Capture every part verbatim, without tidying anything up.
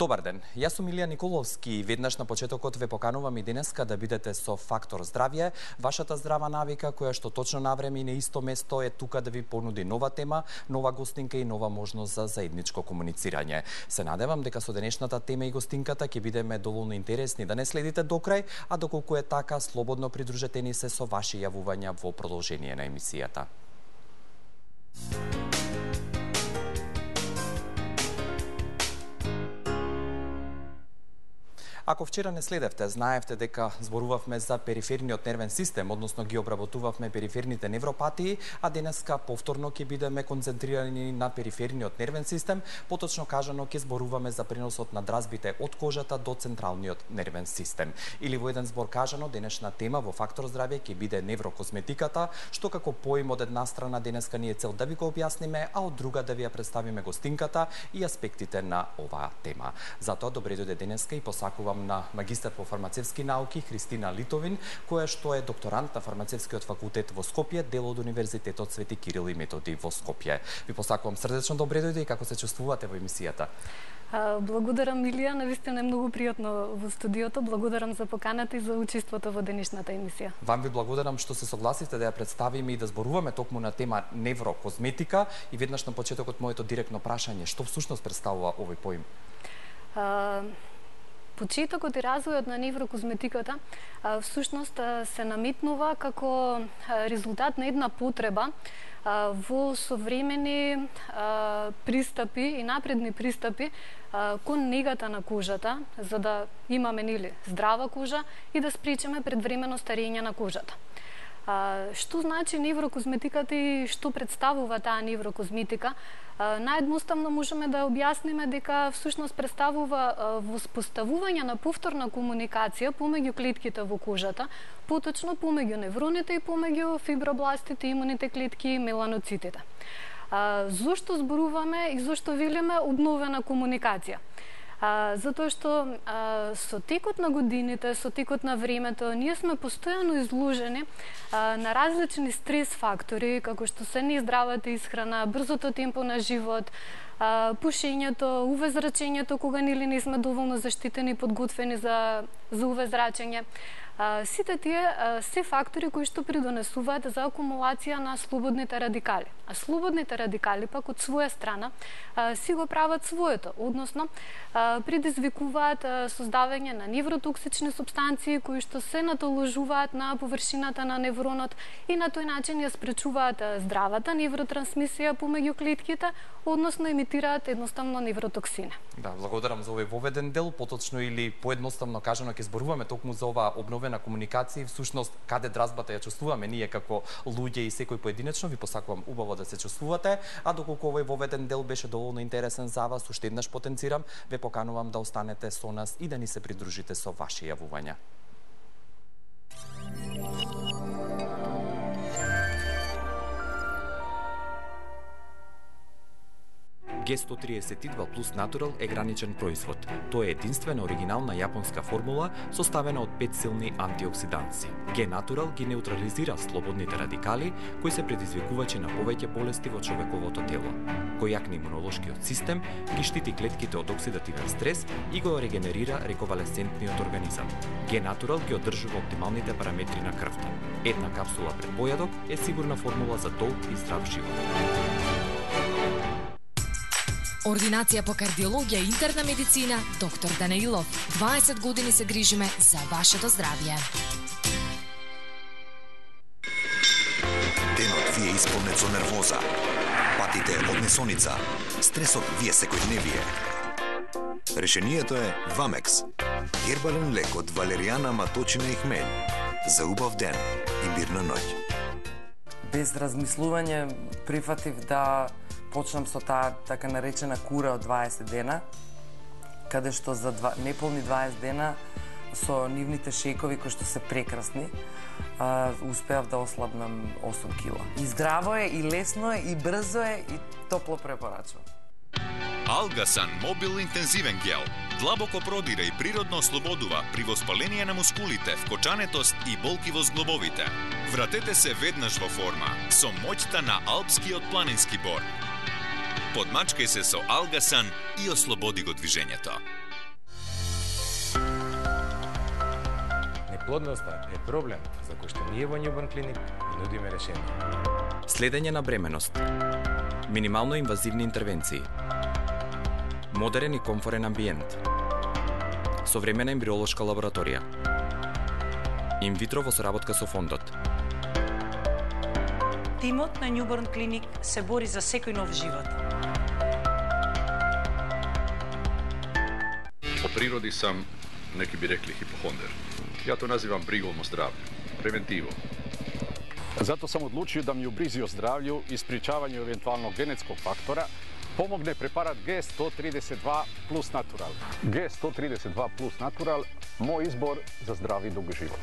Добар ден, јас сум Илија Николовски и веднаш на почетокот ве поканувам и денеска да бидете со Фактор здравје, вашата здрава навика која што точно на време и на исто место е тука да ви понуди нова тема, нова гостинка и нова можност за заедничко комуницирање. Се надевам дека со денешната тема и гостинката ќе бидеме доволно интересни да не следите до крај, а доколку е така, слободно придружете ни се со ваши јавувања во продолжение на емисијата. Ако вчера не следевте, знаевте дека зборувавме за периферниот нервен систем, односно ги обработувавме периферните невропатии, а денеска повторно ќе бидеме концентрирани на периферниот нервен систем, поточно кажано ќе зборуваме за преносот на дразбите од кожата до централниот нервен систем. Или во еден збор кажано, денешна тема во Фактор здравје ќе биде неврокозметиката, што како поим од една страна денеска ни е цел да ви го објасниме, а од друга да ви ја представиме гостинката и аспектите на оваа тема. Затоа добре дојде денеска и посакувам на магистар по фармацевски науки Христина Литовин, која што е докторант на фармацевскиот факултет во Скопје, дел од Универзитетот Свети Кирил и Методи во Скопје. Ви посакувам срдечно добре дојде и како се чувствувате во емисијата? Благодарам, Илија, навистина е многу пријатно во студиото. Благодарам за поканата и за учеството во денешната емисија. Вам ви благодарам што се согласите да ја представиме и да зборуваме токму на тема неврокозметика и веднаш на почетокот моето директно прашање, што всушност представува овој поим? А... Почетокот и развојот на неврокозметиката всушност се наметнува како резултат на една потреба во современи пристапи и напредни пристапи кон негата на кожата, за да имаме нели здрава кожа и да спречиме предвремено старење на кожата. А, што значи неврокозметиката и што представува таа неврокозметика? А, наједноставно можеме да објасниме дека всушност представува а, воспоставување на повторна комуникација помеѓу клетките во кожата, поточно помеѓу невроните и помеѓу фибробластите, имуните клетки и меланоцитите. А, зошто зборуваме и зошто велиме обновена комуникација? А, затоа што а, со текот на годините, со текот на времето, ние сме постојано изложени а, на различни стрес фактори, како што се нездравата исхрана, брзото темпо на живот, а, пушењето, увезрачењето, кога нели не сме доволно заштитени и подготвени за, за увезрачење. А, сите тие а, се фактори кои што придонесуваат за акумулација на слободните радикали. А слободните радикали пак од своја страна а, си го прават своето, односно а, предизвикуваат а, создавање на невротоксични супстанции кои што се натоложуваат на површината на невронот и на тој начин ја спречуваат а, здравата невротрансмисија помеѓу клетките, односно емитираат едноставно невротоксини. Да, благодарам за овој воведен дел, поточно или поедноставно кажано ќе зборуваме токму за оваа обновена комуникација, всушност каде дразбата ја чувствуваме ние како луѓе и секој поединечно. Ви посакувам убаво да се чувствувате, а доколку овој воведен дел беше доволно интересен за вас, уште еднаш потенцирам, ве поканувам да останете со нас и да ни се придружите со ваши јавувања. Г сто триесет и два плюс Natural е граничен производ. Тоа е единствена оригинална јапонска формула составена од пет силни антиоксиданци. Г Natural ги неутрализира слободните радикали кои се предизвикувачи на повеќе болести во човековото тело. Кој јакне имунолошкиот систем, ги штити клетките од оксидативен стрес и го регенерира рековалесцентниот организам. Г Natural ги одржува оптималните параметри на крвта. Една капсула пред појадок е сигурна формула за долг и здрав живот. Ординација по кардиологија и интерна медицина, доктор Данаилов. дваесет години се грижиме за вашето здравје. Денот ви е исполнет со нервоза, патите од несоница, стресот ви е секојдневие. Решението е Вамекс. Гербален лек од валеријана, маточина и хмелј. За убав ден и мирна ноќ. Без размислување прифатив да почнам со таа така наречена кура од дваесет дена, каде што за два, неполни дваесет дена со нивните шејкови кои што се прекрасни, а, успеав да ослабнам осум кила. И здраво е, и лесно е, и брзо е, и топло препорачувам. Алгасан Мобил интензивен гел длабоко продира и природно ослободува при воспаление на мускулите, вкочанетост и болки во зглобовите. Вратете се веднаш во форма со моќта на алпскиот планински бор. Подмачкај се со Алгасан и ослободи го движењето. Неплодноста е проблем за кој што ние во Newborn Clinic нудиме решение. Следење на бременост. Минимално инвазивни интервенции. Модерен и комфорен амбиент. Современа ембриолошка лабораторија. Инвитро во соработка со фондот. Тимот на Newborn Clinic се бори за секој нов живот. По природи сам, неки би рекли, хипохондер. Ја то називам бригом о здравју, превентиво. Зато сам одлучио да ми у бризи о здравју и спречавању евентуално генетскog фактора помогне препарат Г сто тридесет два плюс Натурал. Г сто тридесет два плюс Натурал, мој избор за здрав и долг живот.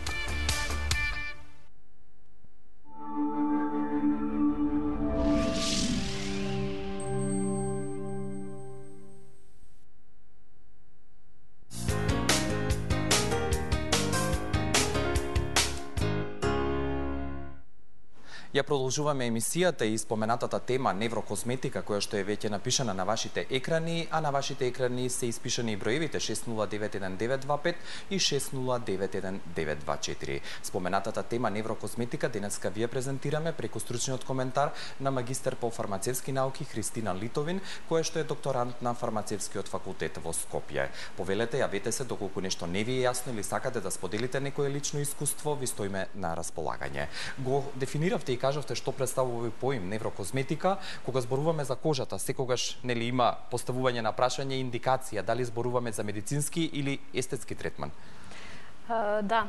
Ја продолжуваме емисијата и споменатата тема неврокосметика, која што е веќе напишана на вашите екрани, а на вашите екрани се испишани и броевите шест нула девет еден девет два пет и шест нула девет еден девет два четири. Споменатата тема неврокосметика денеска вие презентираме преку стручниот коментар на магистер по фармацевски науки Христина Литовин, која што е докторант на фармацевскиот факултет во Скопје. Повелете, јавете се доколку нешто не ви е јасно или сакате да споделите некое лично искуство, ви стоиме на располагање. Го дефиниравте и кажавте што представува овој поим неврокосметика. Кога зборуваме за кожата, секогаш нели има поставување на прашање и индикација дали зборуваме за медицински или естетски третман? Uh, да.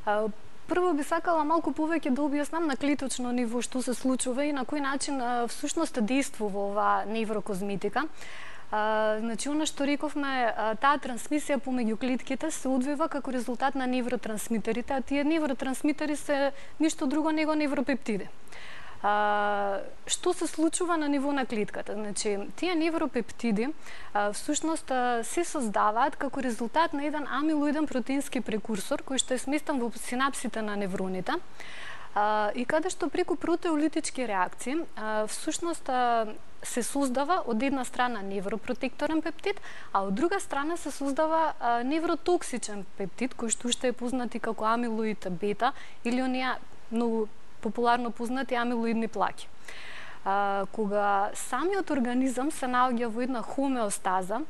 Uh, Прво би сакала малку повеќе да објаснам на клеточно ниво што се случува и на кој начин uh, всушност действува оваа неврокосметика. Uh, значи, она што рековме, uh, таа трансмисија помеѓу клетките се одвива како резултат на невротрансмитерите, а тие невротрансмитери се ништо друго него невропептиди. Uh, што се случува на ниво на клетката? Значи, тие невропептиди uh, всушност uh, се создаваат како резултат на еден амилоиден протеински прекурсор кој што е сместен во синапсите на невроните. Uh, и каде што преку протеолитички реакции uh, всушност uh, се создава од една страна невропротекторен пептид, а од друга страна се создава uh, невротоксичен пептид кој што уште е познат и како амилоид бета или оние многу популарно познати амилоидни плаки. Uh, кога самиот организам се наоѓа во една хомеостаза,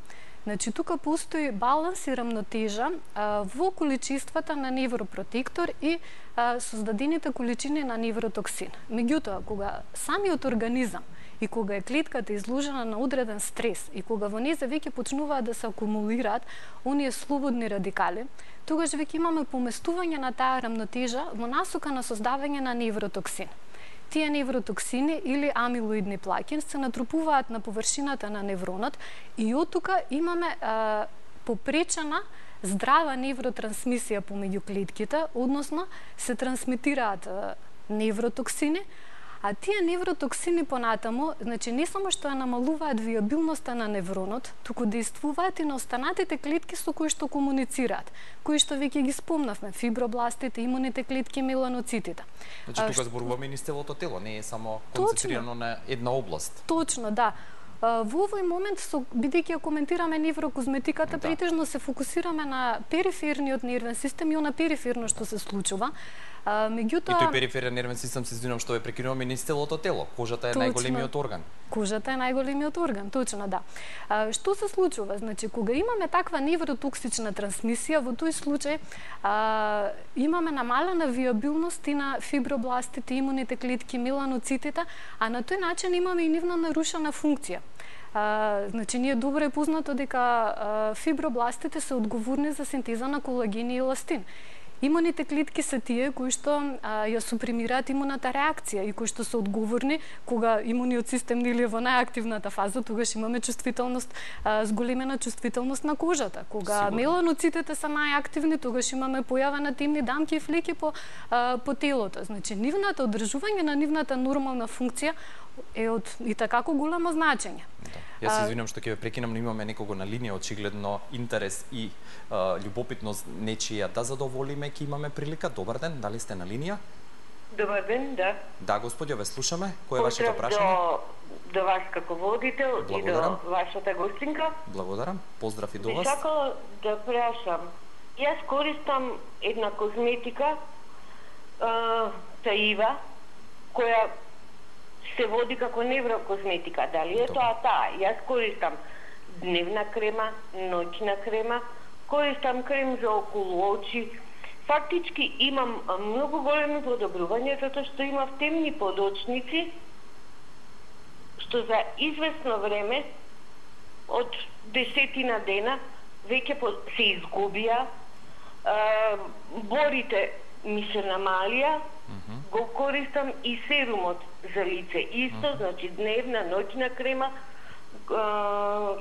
значи тука постои баланс и рамнотежа а, во количествата на невропротектор и а, создадените количини на невротоксин. Меѓутоа, кога самиот организам и кога е клетката изложена на одреден стрес и кога во незе веќе почнуваат да се акумулираат оние слободни радикали, тогаш веќе имаме поместување на таа рамнотежа во насока на создавање на невротоксин. Тие невротоксини или амилоидни плаки се натрупуваат на површината на невронот и од тука имаме а, попречена здрава невротрансмисија помеѓу клетките, односно се трансмитираат а, невротоксини, а тие невротоксини понатаму, значи не само што ја намалуваат виабилноста на невронот, туку действуваат и на останатите клетки со кои што комуницираат, кои што веќе ги спомнавме, фибробластите, имуните клетки, меланоцитите. Значи тука зборуваме и низ целото тело, не е само концентрирано на една област. Точно, да. Во овој момент, со, бидејќи ја коментираме неврокосметиката, да. Претежно се фокусираме на периферниот нервен систем и на периферно што се случува. А, меѓутоа... И тој периферен нервен систем, се извинувам што ве прекинувам, и низ целото тело. Кожата е точно, најголемиот орган. Кожата е најголемиот орган, точно, да. А, што се случува? Значи, кога имаме таква невротоксична трансмисија, во тој случај а, имаме намалена виабилност и на фибробластите, имуните клетки, меланоцитите, а на тој начин имаме и нивна нарушена функција. Uh, значи, ние добро е познато дека uh, фибробластите се одговорни за синтеза на колагин и еластин. Имуните клетки се тие кои што а, ја супримираат имуната реакција и кои што се одговорни кога имуниот систем нели е во најактивната фаза, тогаш имаме чувствителност, а, зголемена чувствителност на кожата. Кога Сигурно. Меланоцитите се најактивни, тогаш имаме појава на темни дамки и флеки по, а, по телото. Значи, нивната одржување на нивната нормална функција е од и такако големо значење. Да. Јас се извинувам што ќе ве прекинам, но имаме некого на линија, очигледно интерес и а, љубопитност нечија да задоволиме, ќе имаме прилика. Добар ден, дали сте на линија? Добар ден, да. Да, господјо, ве слушаме. Кој е вашето прашање? До, до вас како водител Благодарам. И до вашата гостинка. Благодарам. Поздрав и до вас. Би сакала да прашам, Јас користам една козметика, а, Таива, која се води како неврокозметика. Дали е тоа таа? Јас користам дневна крема, ноќна крема, користам крем за околу очи. Фактички имам многу големи подобрување затоа што имав темни подочници, што за известно време, од десетина дена, веќе се изгубија, борите ми се намалија, mm-hmm. го користам и серумот за лице. Исто, mm-hmm. значи дневна, ноќна крема,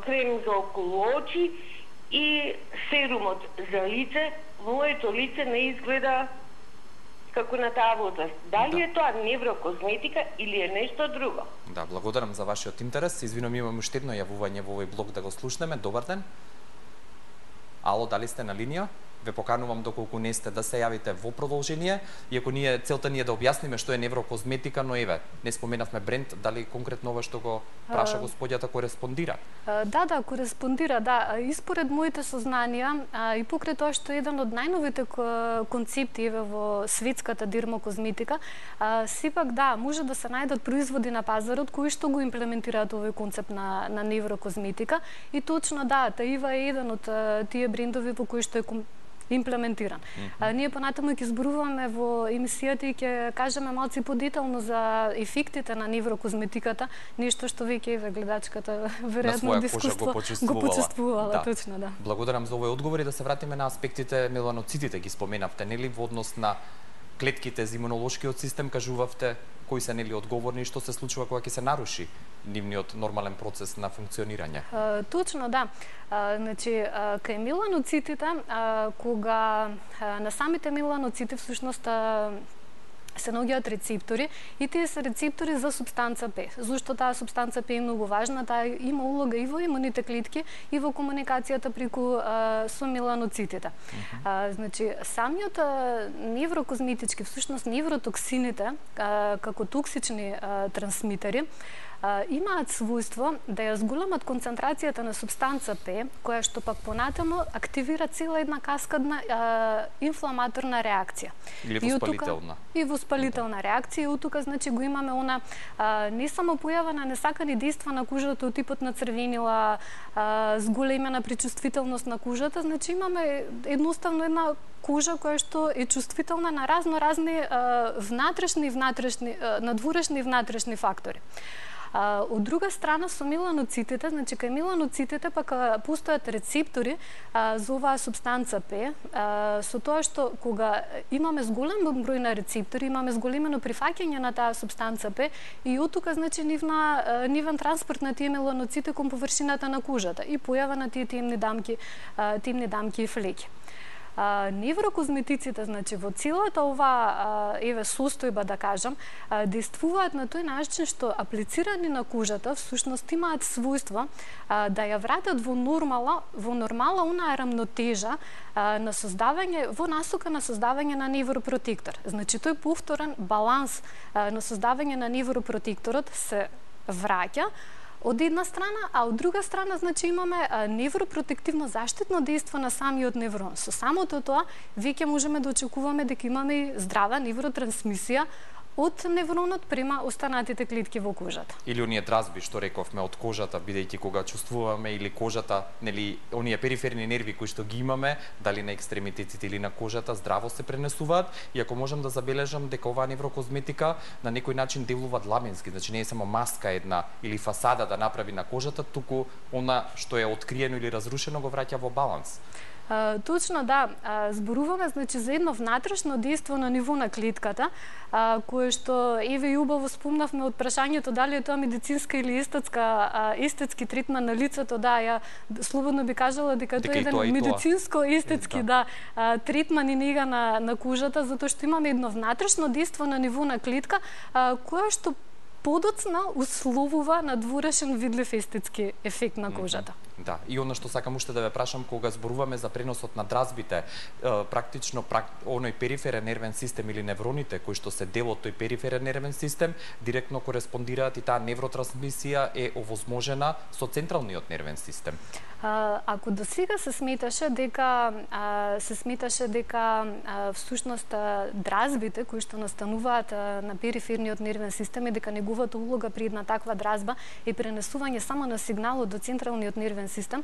крем за околу очи и серумот за лице. Моето лице не изгледа како на таа возраст. Дали да. е тоа неврокозметика или е нешто друго? Да, благодарам за вашиот интерес. Извинувам, имам уште едно јавување во овој блог да го слушнеме. Добар ден. Ало, дали сте на линија? Ве поканувам доколку не сте да се јавите во продолжение, иако ние целта ни е да објасниме што е неврокозметика, но еве, не споменавме бренд, дали конкретно ова што го праша господјата кореспондира? Да, да, кореспондира, да. И според моите сознанија, и покрај тоа што е еден од најновите концепти еве во светската дермокозметика, сепак да, може да се најдат производи на пазарот кои што го имплементираат овој концепт на на неврокозметика и точно да, Таива е еден од тие брендови во кои што е имплементиран. Mm-hmm. А, ние понатаму ќе зборуваме во емисијата и ќе кажеме малци подетално за ефектите на неврокозметиката, нешто што веќе еве гледачката веројатно дискуство го почувствувала, да. Точно, да. Благодарам за овој одговор и да се вратиме на аспектите меланоцитите, ги споменавте, нели, во однос на клетките за имунолошкиот систем, кажувавте кои се нели одговорни и што се случува кога ќе се наруши нивниот нормален процес на функционирање. А, точно, да. А, значи, а, кај меланоцитите, а, кога а, на самите меланоцити всушност а, се наоѓаат рецептори и тие се рецептори за супстанца П. Зошто таа супстанца П е многу важна? Таа има улога и во имуните клетки и во комуникацијата преку а, со меланоцитите. Uh-huh. А, значи, самиот а, неврокозметички, всушност невротоксините, а, како токсични а, трансмитери, Uh, имаат својство да ја зголемат концентрацијата на супстанца П, која што пак понатаму активира цела една каскадна uh, инфламаторна реакција. Или воспалителна. И воспалителна реакција. И тука значи го имаме она uh, не само појава на несакани дејства на кожата од типот на црвенила, uh, зголемена причувствителност на кожата, значи имаме едноставно една кожа која што е чувствителна на разно-разни uh, внатрешни и внатрешни, uh, надворешни и внатрешни фактори. А, од друга страна, со меланоцитите, значи кај меланоцитите пак постојат рецептори а, за оваа супстанца П, а, со тоа што кога имаме зголем број на рецептори, имаме зголемено прифаќање на таа супстанца П и од тука значи нивна нивен транспорт на тие меланоцити кон површината на кожата и појава на тие темни дамки, а, темни дамки и флеки. А, неврокозметиците, значи, во целата ова еве состојба, да кажам, а, действуваат на тој начин што аплицирани на кожата, всушност имаат својство а, да ја вратат во нормала, во нормала онаа рамнотежа а, на создавање, во насока на создавање на невропротектор. Значи, тој повторен баланс а, на создавање на невропротекторот се враќа од една страна, а од друга страна, значи, имаме невропротективно заштитно дејство на самиот неврон. Со самото тоа, веќе можеме да очекуваме дека имаме здрава невротрансмисија од невронот према останатите клетки во кожата. Или оние дразби што рековме од кожата, бидејќи кога чувствуваме или кожата, нели, оние периферни нерви кои што ги имаме, дали на екстремитетите или на кожата, здраво се пренесуваат, и ако можам да забележам дека оваа неврокозметика на некој начин делува длабински, значи не е само маска една или фасада да направи на кожата, туку она што е откриено или разрушено го враќа во баланс. Uh, точно, да. Uh, зборуваме, значи, за едно внатрешно дејство на ниво на клетката, uh, кое што еве и убаво спомнавме од прашањето дали е тоа медицинска или естетска, uh, естетски третман на лицето. Да, ја слободно би кажала дека тоа е еден медицинско-естетски да, uh, третман и нега на, на кожата, затоа што имаме едно внатрешно дејство на ниво на клетка, uh, кое што подоцна условува надворешен видлив естетски ефект на кожата. Да, и оно што сакам уште да ве прашам, кога зборуваме за преносот на дразбите, практично прак, оној периферен нервен систем или невроните кои што се дел од тој периферен нервен систем директно кореспондираат и таа невротрансмисија е овозможена со централниот нервен систем. А, ако до сега се сметаше дека а, се сметаше дека а, всушност а, дразбите кои што настануваат а, на периферниот нервен систем и дека неговата улога при една таква дразба е пренесување само на сигналот до централниот нервен систем,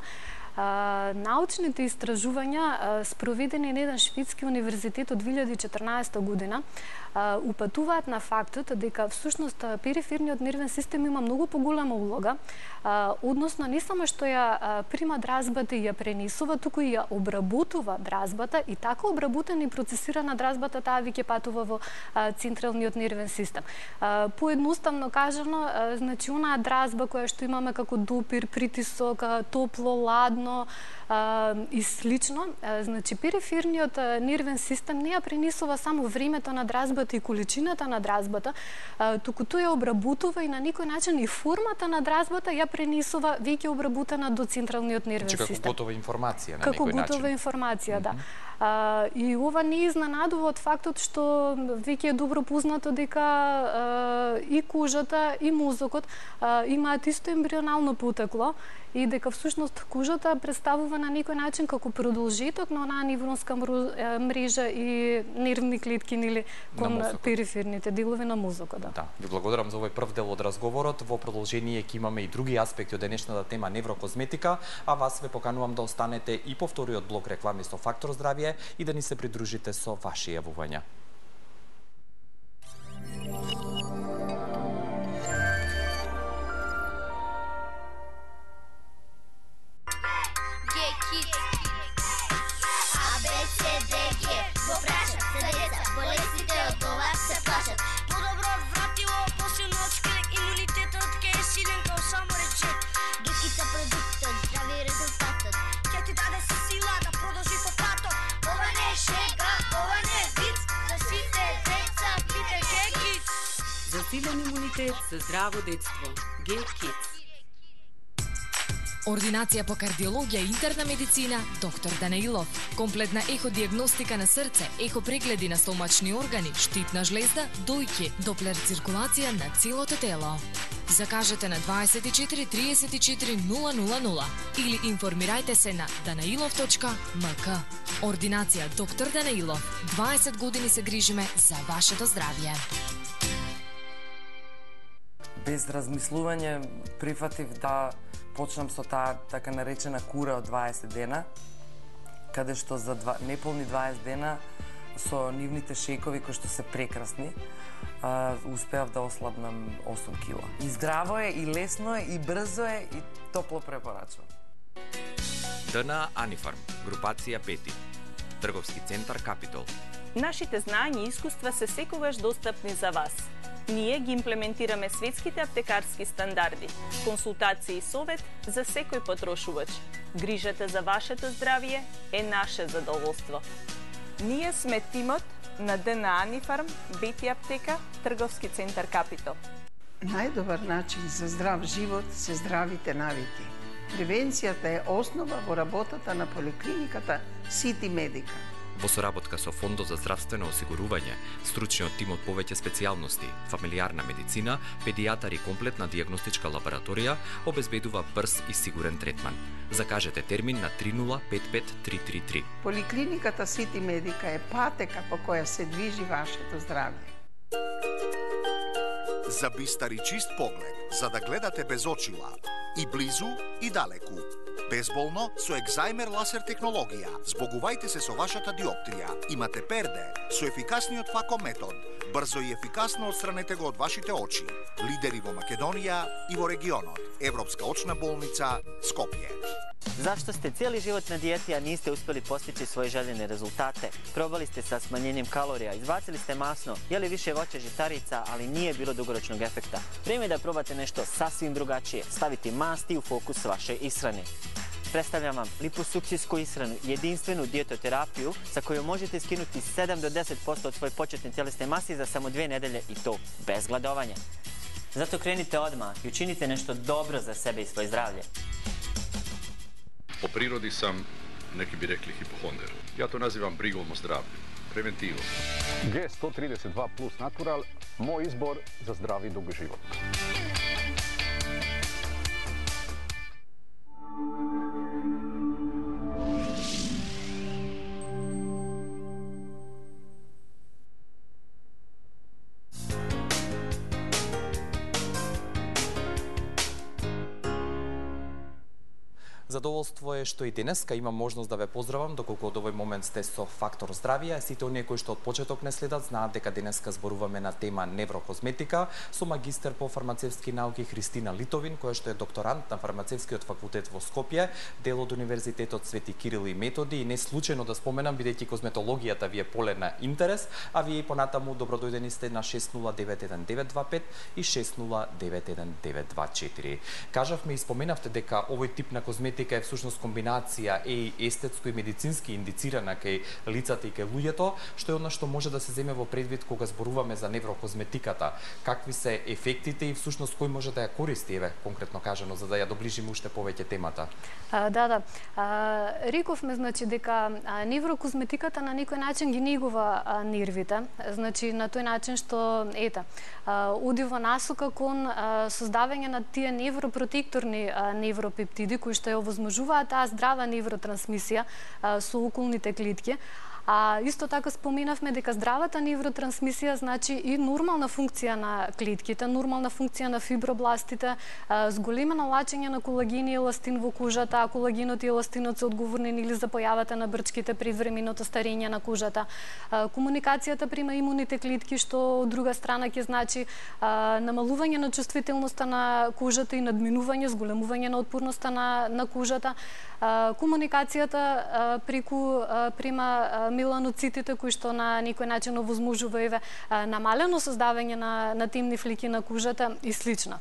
а, научните истражувања а, спроведени на еден шведски универзитет од две илјади и четрнаесета година а, упатуваат на фактот дека всушност периферниот нервен систем има многу поголема улога, а, односно не само што ја а, прима дразбата и ја пренесува, туку и ја обработува дразбата и така обработена и процесирана дразбата таа веќе патува во а, централниот нервен систем. А, поедноставно кажано, а, значи онаа дразба која што имаме како допир, притисок, а, топло, ладно а, и слично, а, значи периферниот а, нервен систем не ја пренесува само времето на дразбата и количината на дразбата, а, туку тој ја обработува и на некој начин и формата на дразбата ја пренесува веќе обработена до централниот нервен систем. Како готова информација на како некој начин. Како готова информација, да. А, и ова не изненадува од фактот што веќе е добро познато дека а, и кожата и мозокот а, имаат исто ембрионално потекло и дека всушност кожата представува на некој начин како продолжеток на онаа невронска мрежа и нервни клетки нели кон периферните делови на мозокот. Да. Да, ви благодарам за овој прв дел од разговорот. Во продолжение ќе имаме и други аспекти од денешната тема неврокозметика, а вас ве поканувам да останете и по вториот блок реклами со Фактор здравје и да ни се придружите со ваши јавувања. Засилен имунитет за здраво детство. Г-Kids. Ординација по кардиологија и интерна медицина, доктор Данаилов. Комплетна еходиагностика на срце, ехопрегледи на стомачни органи, штитна жлезда, дојки, доплер циркулација на целото тело. Закажете на дваесет и четири триесет и четири нула нула нула или информирајте се на данаилов точка ем ка. Ординација доктор Данаилов. дваесет години се грижиме за вашето здравје. Без размислување прифатив да почнам со таа така наречена кура од дваесет дена, каде што за два, неполни дваесет дена со нивните шекови кои што се прекрасни, а, успеав да ослабнам осум кила. И здраво е, и лесно е, и брзо е, и топло препорачувам. ДНА Анифарм, групација пети, трговски центар Капитол. Нашите знања и искуства се секогаш достапни за вас. Ние ги имплементираме светските аптекарски стандарди, консултации и совет за секој потрошувач. Грижата за вашето здравје е наше задоволство. Ние сме тимот на ДНА Анифарм, Бети аптека, трговски центар Капитол. Најдобар начин за здрав живот се здравите навики. Превенцијата е основа во работата на поликлиниката Сити Медика. Во соработка со Фондот за здравствено осигурување, стручниот тим од повеќе специјалности, фамилиарна медицина, педијатар и комплетна дијагностичка лабораторија обезбедува брз и сигурен третман. Закажете термин на три нула пет пет три три три. Поликлиниката Сити Медика е патека по која се движи вашето здравје. За бистар и чист поглед, за да гледате без очила, и близу и далеку. Безболно со екзајмер ласер технологија. Збогувајте се со вашата диоптрија. Имате перде со ефикасниот фако метод. Брзо и ефикасно отстранете го од вашите очи. Лидери во Македонија и во регионот. Европска очна болница Скопје. Зашто сте цели живот на диети, а нисте успели постичи своји желени резултате? Пробали сте sa smanjenjem kalorija, izbacili ste masno, jeli više voća žitarica, ali nije bilo dugoročnog efekta. Vrijeme je da probate nešto sasvim drugačije, staviti masti u fokus vaše ishrane. Predstavljam vam liposukcijsku ishranu, jedinstvenu dijetoterapiju sa kojom možete skinuti sedam do deset posto od svoje početne tjelesne mase za samo dve nedelje i to bez gladovanja. Zato krenite odmah i učinite nešto dobro za sebe i svoje zdravlje. По природи сам, неки би рекли хипохондер. Ја то називам бригом о здравју. Превентиво. Г сто тридесет два плюс Натурал, мој избор за здрав и дуг живот. Задоволство е што и денеска имам можност да ве поздравам, доколку од овој момент сте со Фактор здравје. Сите оние кои што од почеток не следат знаат дека денеска зборуваме на тема неврокозметика со магистер по фармацевски науки Христина Литовин, која што е докторант на фармацевскиот факултет во Скопје, дел од Универзитетот Свети Кирил и Методи, и не случајно да споменам бидејќи козметологијата ви е поле на интерес, а вие понатаму добродојдени сте на шест нула девет еден девет два пет и шест нула девет еден девет два четири. Кажавме и споменавте дека овој тип на козметика е всушност комбинација е естетско и медицински индицирана кај лицата и кај луѓето, што е она што може да се земе во предвид кога зборуваме за неврокозметиката. Какви се ефектите и всушност кој може да ја користи, еве, конкретно кажано, за да ја доближиме уште повеќе темата? А, да, да. А, рековме, значи, дека а, неврокозметиката на некој начин ги негува а, нервите, значи, на тој начин што, ета, а, оди во насока кон а, создавање на тие невропротекторни а, невропептиди, кои што ја овозможуваат таа здрава невротрансмисија а, со околните клетки. А исто така споменавме дека здравата невротрансмисија значи и нормална функција на клетките, нормална функција на фибробластите, зголемено лачење на колагин и еластин во кожата, а колагинот и еластинот се одговорни или за појавата на брчките, предвременото старење на кожата. Комуникацијата према имуните клетки, што од друга страна ќе значи намалување на чувствителноста на кожата и надминување, зголемување на отпорноста на, на кожата. Комуникацијата преку према меланоцитите кои што на некој начин овозможува еве намалено создавање на на темни флики на кожата и слично.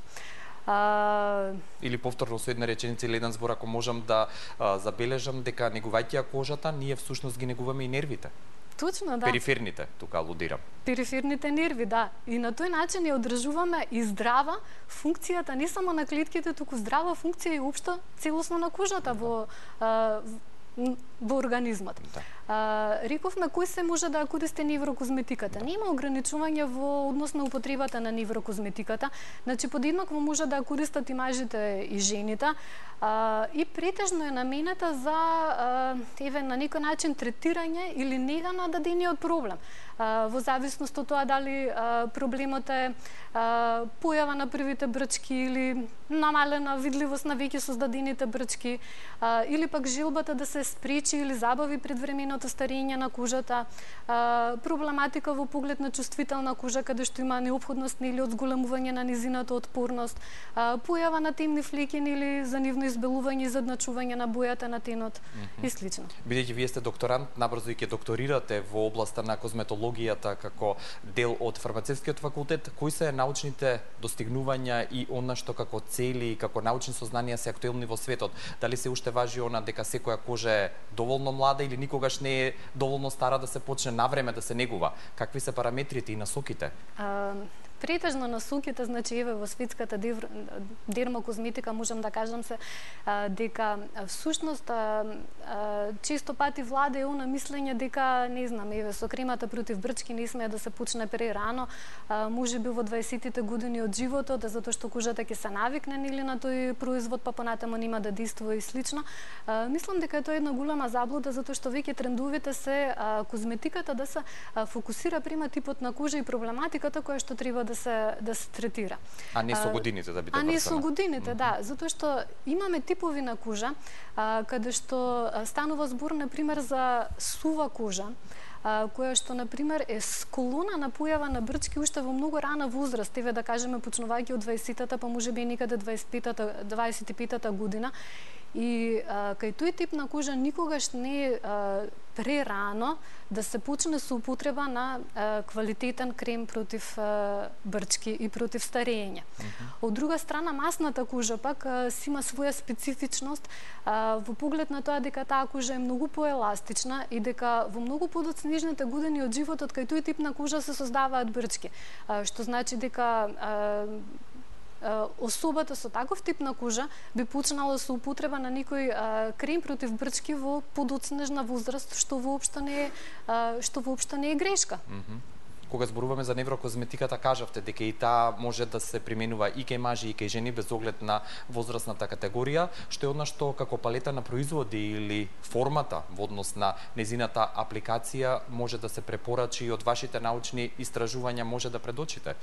А... Или повторно со една реченица или еден збор, ако можам да а, забележам дека негувајќи ја кожата, ние всушност ги негуваме и нервите. Точно, да. Периферните, тука алудирам. Периферните нерви, да. И на тој начин ја одржуваме и здрава функцијата не само на клетките, туку здрава функција и општо целосно на кожата во а, во организмот. Да. А, рековме кој се може да користи неврокозметиката. Нема ограничување во однос на употребата на неврокозметиката. Значи подеднакво може да користат и мажите и жените. А, и претежно е наменета за а, еве на некој начин третирање или нега на дадениот проблем. А, во зависност од тоа дали а, проблемот е а, појава на првите брчки или намалена видливост на веќе создадените брчки, а, или пак желбата да се спречи или забави предвременото старење на кожата, а, проблематика во поглед на чувствителна кожа каде што има неопходност или од зголемување на низината отпорност, а, појава на темни флеки или за нивно избелување и задначување на бојата на тенот mm -hmm. и слично. Бидејќи вие сте докторант, набрзо и ќе докторирате во областа на козметологијата како дел од фармацевскиот факултет, кои се научните достигнувања и она што како цели и како научни сознанија се актуелни во светот? Дали се уште важи она дека секоја кожа е доволно млада или никогаш не е доволно стара да се почне навреме да се негува? Какви се параметрите и насоките? А... Претежно насоките, значи еве во светската дермокозметика можам да кажам се а, дека всушност а, а, често пати владе она мислење дека не знам еве со кремата против брчки не смее да се почне прерано, а, можеби во дваесеттите години од животот, затоа што кожата ќе се навикне нели на тој производ, па понатаму нема да действува и слично. А, мислам дека е тоа една голема заблуда затоа што веќе трендовите се а, козметиката да се а, фокусира према типот на кожа и проблематиката која што треба да да се да се третира. А не со годините да биде врсана. А не со годините, mm -hmm. да, затоа што имаме типови на кожа а, каде што станува збор на пример за сува кожа, а, која што на пример е склона на појава на брчки уште во многу рана возраст, еве да кажеме почнувајќи од дваесеттата па можеби некаде дваесет и петата година. И а, кај тој тип на кожа никогаш не е прерано да се почне со употреба на а, квалитетен крем против а, брчки и против старење. Mm -hmm. Од друга страна, масната кожа пак а, си има своја специфичност а, во поглед на тоа дека таа кожа е многу поеластична и дека во многу подоцнежните години од животот кај тој тип на кожа се создаваат брчки, а, што значи дека а, особата со таков тип на кожа би почнала со употреба на некој крем против брчки во подоцнежна возраст, што воопшто не е што воопшто не е грешка. Кога зборуваме за неврокозметиката, кажавте дека и таа може да се применува и кај мажи и кај жени без оглед на возрастната категорија, што е одна што како палета на производи или формата во однос на незината апликација може да се препорачи и од вашите научни истражувања може да предочите?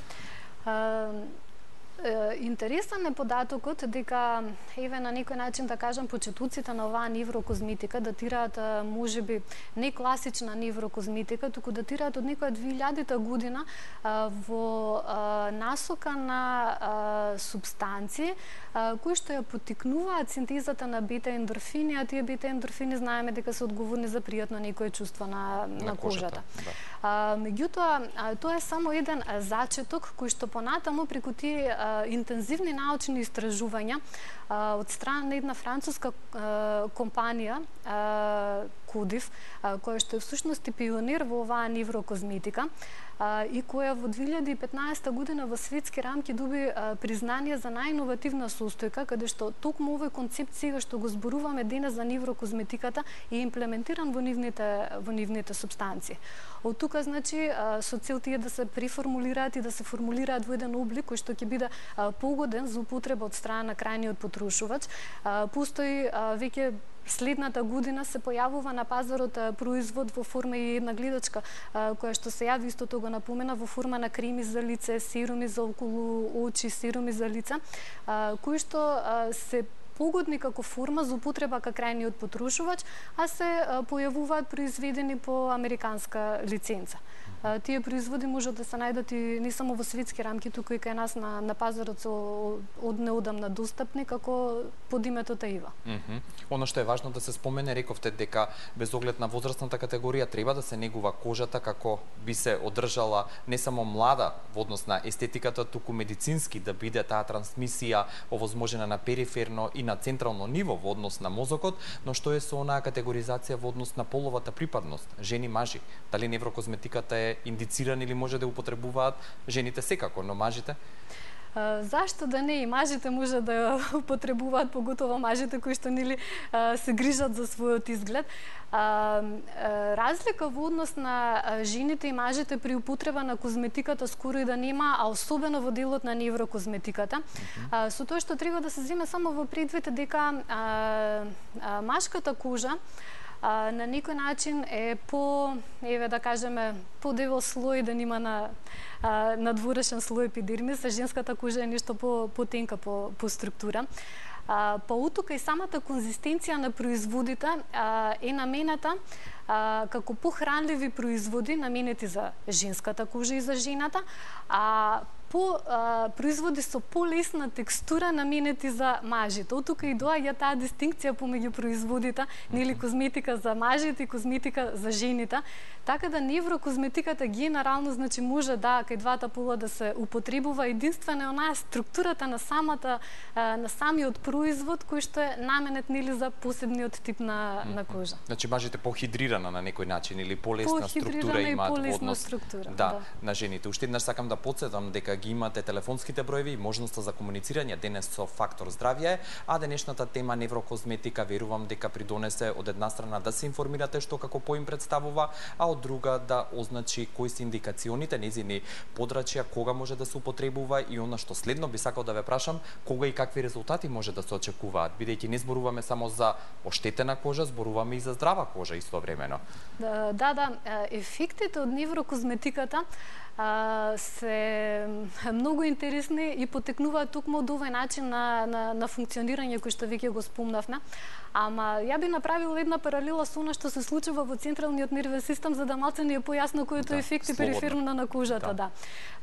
Интересен е податокот дека еве на некој начин да кажам почетуците на оваа неврокозметика датираат можеби не класична неврокозметика, туку датираат од некоја две илјадите година во насока на субстанции кои што ја поттикнуваат синтезата на бета-ендорфини, а тие бета-ендорфини знаеме дека се одговорни за пријатно некое чувство на, на, на кожата. Да. А, меѓутоа, тоа е само еден зачеток кој што понатаму преку тие интензивни научни истражувања од страна на една француска компанија Кодив, која што е всушност и пионер во оваа неврокозметика и која во две илјади и петнаесета година во светски рамки доби признание за најиновативна состојка, каде што токму овој концепт сега што го зборуваме денес за неврокозметиката е имплементиран во нивните во нивните субстанции. Од тука значи со цел тие да се преформулираат и да се формулираат во еден облик кој што ќе биде погоден за употреба од страна на крајниот потрошувач. Постои веќе следната година се појавува на пазарот производ во форма и една гледачка која што се јави, истото го напомена, во форма на креми за лице, серуми за околу очи, серуми за лица, кои што се погодни како форма за употреба кај крајниот потрошувач, а се појавуваат произведени по американска лиценца. Тие производи можат да се најдат и не само во светски рамки, туку и кај нас на, на пазарот со од неодамна достапни, како под името Таива. Mm -hmm. Оно што е важно да се спомене, рековте дека без оглед на возрастната категорија треба да се негува кожата како би се одржала не само млада во однос на естетиката, туку медицински да биде таа трансмисија овозможена на периферно и на централно ниво во однос на мозокот, но што е со онаа категоризација во однос на половата припадност, жени, мажи? Дали неврокозметиката е индициран или може да употребуваат жените секако, но мажите? Зашто да не, и мажите може да ја употребуваат, поготово мажите кои што нели се грижат за својот изглед. Разлика во однос на жените и мажите при употреба на козметиката скоро и да нема, а особено во делот на неврокозметиката. Mm-hmm. Со тоа што треба да се земе само во предвид дека машката кожа А, на некој начин е по, еве да кажеме, по дебел слој да нема на а, надворешен слој епидермис, а женската кожа е нешто по потенка по, по структура. А, па утука и самата конзистенција на производите а, е намената а, како похранливи производи наменети за женската кожа и за жената, а по а, производи со полесна текстура наменети за мажите. Од тука и доаѓа таа дистинкција помеѓу производите, нели козметика за мажите и козметика за жените. Така да неврокозметиката генерално значи може да кај двата пола да се употребува, единствено е онаа структурата на самата а, на самиот производ кој што е наменет нели за посебниот тип на на кожа. Значи мажите похидрирана на некој начин или полесна структура имаат во однос структура, да, да, на жените. Уште еднаш сакам да потсетам дека ги имате телефонските броеви и можноста за комуницирање денес со Фактор здравје, а денешната тема неврокозметика верувам дека придонесе од една страна да се информирате што како поим представува, а од друга да означи кои се индикационите, незини подрачја, кога може да се употребува и она што следно би сакал да ве прашам, кога и какви резултати може да се очекуваат, бидејќи не зборуваме само за оштетена кожа, зборуваме и за здрава кожа истовремено. Да, да, да, ефектите од неврокозметиката се многу интересни и потекнуваат токму од овој начин на, на, на функционирање кој што веќе го спомнавме. Ама ја би направила една паралела со она што се случува во централниот нервен систем, за да малце ни е појасно кои тоа да, ефекти периферно на кожата. Да. Да.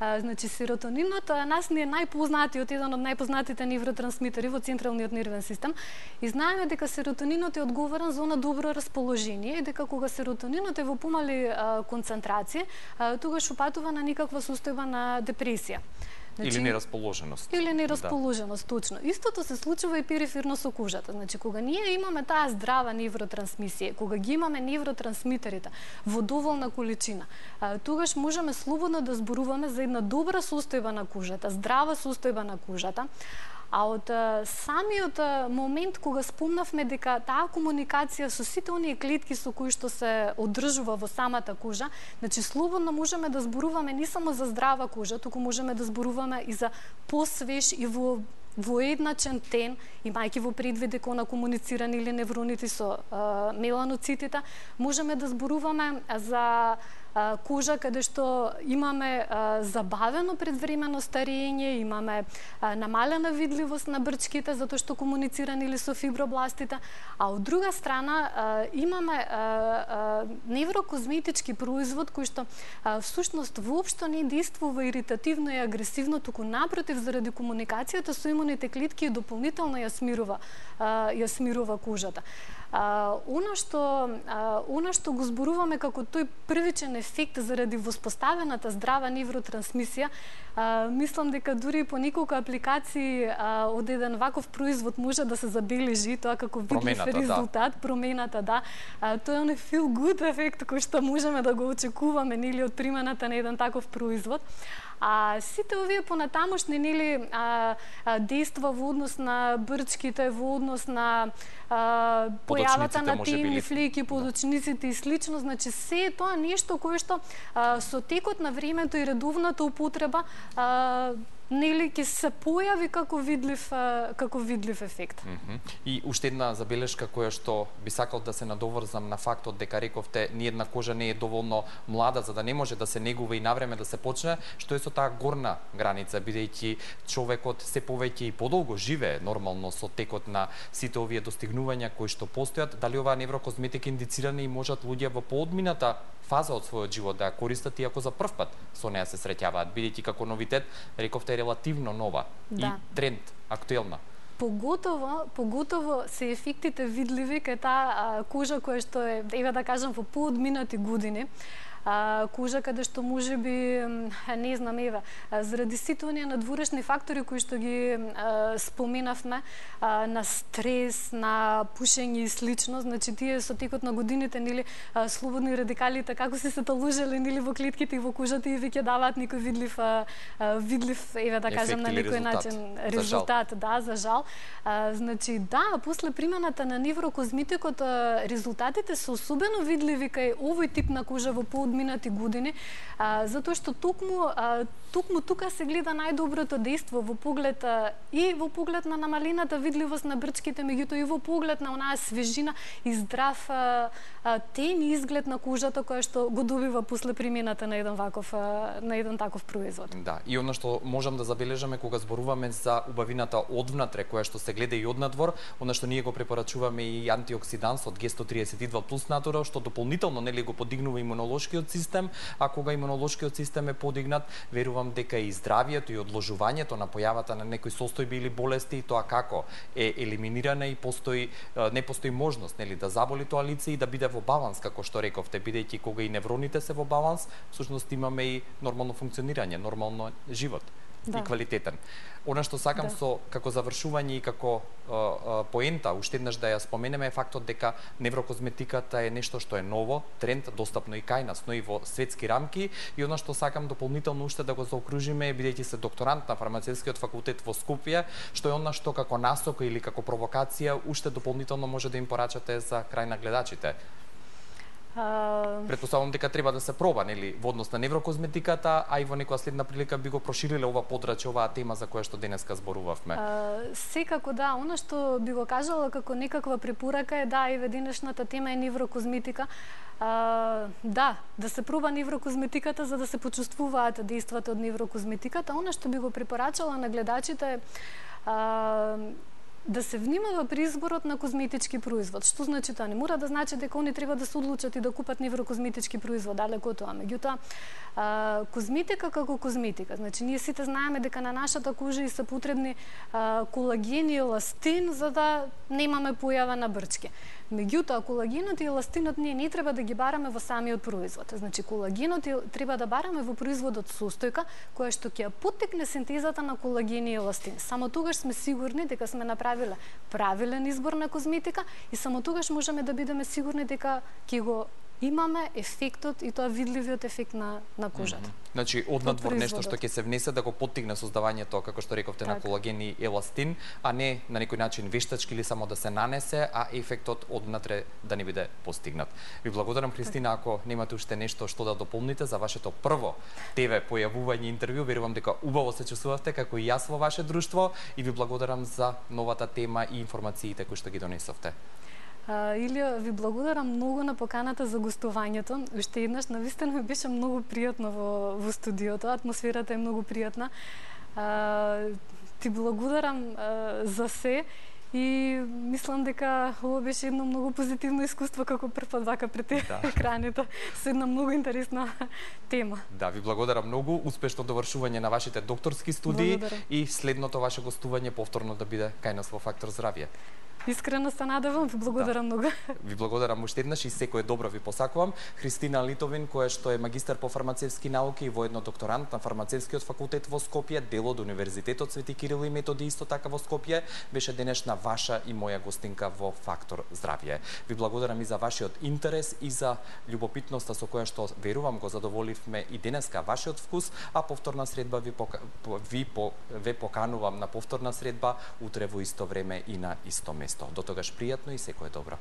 А, значи, серотонинот нас ни е најпознатиот, еден од најпознатите невротрансмитери во централниот нервен систем. И знаеме дека серотонинот е одговорен за она добро расположение и дека кога серотонинот е во помали а, концентрација, а, тогаш упатува на никаква состојба на депресија. Значи, или нерасположеност. Или нерасположеност, да. Точно. Истото се случува и периферно со кожата. Значи, кога ние имаме таа здрава невротрансмисија, кога ги имаме невротрансмитерите во доволна количина, тогаш можеме слободно да зборуваме за една добра состојба на кожата, здрава состојба на кожата. А од самиот момент кога спомнавме дека таа комуникација со сите оние клетки со кои што се одржува во самата кожа, значи слободно можеме да зборуваме не само за здрава кожа, туку можеме да зборуваме и за посвеж и во воедначен тен, имајќи во предвид дека она комуницирани или невроните со а, меланоцитите, можеме да зборуваме за кожа каде што имаме а, забавено предвремено старење, имаме а, намалена видливост на брчките затоа што комуницирани или со фибробластите, а од друга страна а, имаме а, а, неврокозметички производ кој што а, всушност воопшто не действува иритативно и агресивно, туку напротив заради комуникацијата со имуните клетки дополнително ја смирува, а, ја смирува кожата. А, она што а, она што го зборуваме како тој првичен ефект заради воспоставената здрава невротрансмисија, а, мислам дека дури по неколку апликации а, од еден ваков производ може да се забележи тоа како видлив резултат, да. промената, да. А, тоа е оној feel good ефект кој што можеме да го очекуваме нели од примената на еден таков производ. А сите овие понатамошни нели а, а, действа во однос на брчките, во однос на а, појавата на темни флики, подочниците и слично, значи се е тоа нешто кое што а, со текот на времето и редовната употреба а, нели ќе се појави како видлив како видлив ефект. Mm -hmm. И уште една забелешка која што би сакал да се надоврзам на фактот дека рековте ни една кожа не е доволно млада за да не може да се негува и навреме да се почне, што е со таа горна граница, бидејќи човекот се повеќе и подолго живее нормално со текот на сите овие достигнувања кои што постојат. Дали оваа неврокозметика индицирана и можат луѓе во поодмината фаза од својот живот да ја користат иако за прв пат со неа се среќаваат, бидејќи како новитет рековте релативно нова да. И тренд, актуелна. Поготово, поготово се ефектите видливи кај таа кожа која што е, еве да кажам, во поодминати години. А, кожа каде што можеби, не знам, еве, заради сите оние надворешни фактори кои што ги а, споменавме, а, на стрес, на пушење и слично, значи тие со текот на годините, нели, а, слободни радикалите како се се таложеле, нели, во клетките и во кожата и веќе даваат некој видлив, а, видлив, еве да кажам, на некој начин резултат, да, за жал. А, значи, да, после примената на неврокозметикот, резултатите се особено видливи кај овој тип на кожа во поодминати минати години, а, затоа што токму, а, токму тука се гледа најдоброто дејство во поглед а, и во поглед на намалената видливост на брчките, меѓутоа и во поглед на онаа свежина и здрав а, а, тен изглед на кожата која што го добива после примената на еден ваков а, на еден таков производ. Да, и она што можам да забележаме кога зборуваме за убавината одвнатре која што се гледа и однадвор, она што ние го препорачуваме и антиоксидансот Г сто тридесет и два плюс натурал, што дополнително нели го подигнува имунолошкиот систем, а кога имунолошкиот систем е подигнат, верувам дека и здравието и одложувањето на појавата на некои состојби или болести, тоа како е елиминирана и постои не постои можност нели да заболи тоа лице и да биде во баланс, како што рековте, бидејќи кога и невроните се во баланс, всушност имаме и нормално функционирање, нормално живот. Да. И квалитетен. Она што сакам да. Со како завршување и како а, а, поента, уште еднаш да ја споменеме е фактот дека неврокозметиката е нешто што е ново, тренд, достапно и кај нас, но и во светски рамки, и она што сакам дополнително уште да го заокружиме, бидејќи се докторант на фармацевскиот факултет во Скопје, што е она што како насока или како провокација уште дополнително може да им порачате за крај на гледачите. Претпоставувам дека треба да се проба, нели, во однос на неврокозметиката, а и во некоја следна прилика би го прошириле ова подрачје, оваа тема за која што денеска зборувавме. А, секако да, она што би го кажала како некаква препорака е да, еве денешната тема е неврокозметика. А, да, да се проба неврокозметиката за да се почувствуваат дејствата од неврокозметиката. Она што би го препорачала на гледачите е да се внимава при изборот на козметички производ. Што значи тоа? Не мора да значи дека они треба да се одлучат и да купат неврокозметички производ, далеко од тоа. Меѓутоа, козметика како козметика. Значи, ние сите знаеме дека на нашата кожа и се потребни а, колаген и еластин за да немаме појава на брчки. Меѓутоа, колагенот и еластинот ние не треба да ги бараме во самиот производ. Значи, колагенот треба да бараме во производот состојка која што ќе ја поттикне синтезата на колаген и еластин. Само тогаш сме сигурни дека сме направиле правилен избор на козметика и само тогаш можеме да бидеме сигурни дека ќе го имаме ефектот и тоа видливиот ефект на, на кожата. Mm -hmm. Значи, однадвор нешто што ќе се внесе да го поттигне создавањето, како што рековте, так. на колаген и еластин, а не на некој начин вештачки или само да се нанесе, а ефектот однатре да не биде постигнат. Ви благодарам, Христина, ако немате уште нешто што да дополните за вашето прво ТВ појавување интервју, верувам дека убаво се чувствувавте како и јас во ваше друштво и ви благодарам за новата тема и информациите кои што ги донесовте. Uh, Илија, ви благодарам многу на поканата за гостувањето. Уште еднаш, навистина ми беше многу пријатно во, во студиото, атмосферата е многу пријатна. Uh, ти благодарам uh, за се и мислам дека ова беше едно многу позитивно искуство како прв пат вака пред да. екраните со една многу интересна тема. Да, ви благодарам многу, успешно довршување на вашите докторски студии благодарам. И следното ваше гостување повторно да биде кај нас во Фактор здравје. Искрено се надевам, ви благодарам да. многу. Ви благодарам уште еднаш и секое добро ви посакувам. Христина Литовин, која што е магистар по фармацевски науки и воедно докторант на фармацевскиот факултет во Скопје, дел од Универзитетот Свети Кирил и Методи исто така во Скопје, беше денешна ваша и моја гостинка во Фактор здравје. Ви благодарам и за вашиот интерес и за љубопитноста со која што верувам го задоволивме и денеска вашиот вкус, а повторна средба ви пока... ви по... ве поканувам на повторна средба утре во исто време и на исто место. До тогаш пријатно и секое добро.